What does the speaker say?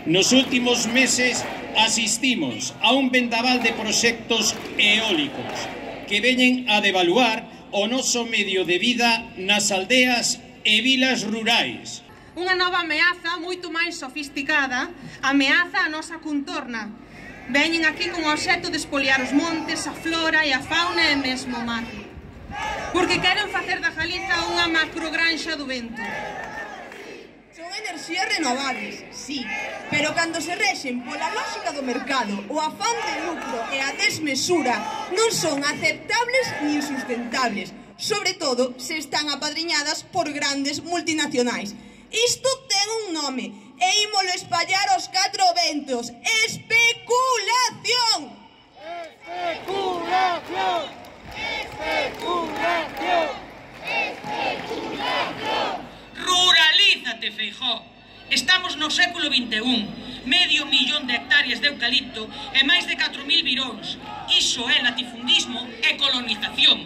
Nos últimos meses asistimos a un vendaval de proxectos eólicos que veñen a devaluar o noso medio de vida nas aldeas e vilas rurais. Unha nova ameaza moito máis sofisticada ameaza a nosa contorna. Veñen aquí con o obxecto de espoliar os montes, a flora e a fauna e mesmo o mar. Porque queren facer da Galiza unha macrogranxa do vento. Son enerxías renovables, sí, pero cando se rexen pola lógica do mercado, o afán de lucro e a desmesura non son aceptables nin sustentables, sobre todo se están apadriñadas por grandes multinacionais. Isto ten un nome e ímolo espallar aos 4 ventos. Especulación! Especulación! Especulación! Especulación! Ruralízate, Feijóo. Estamos no século XXI, 500.000 de hectáreas de eucalipto e máis de 4.000 viróns. Iso é latifundismo e colonización.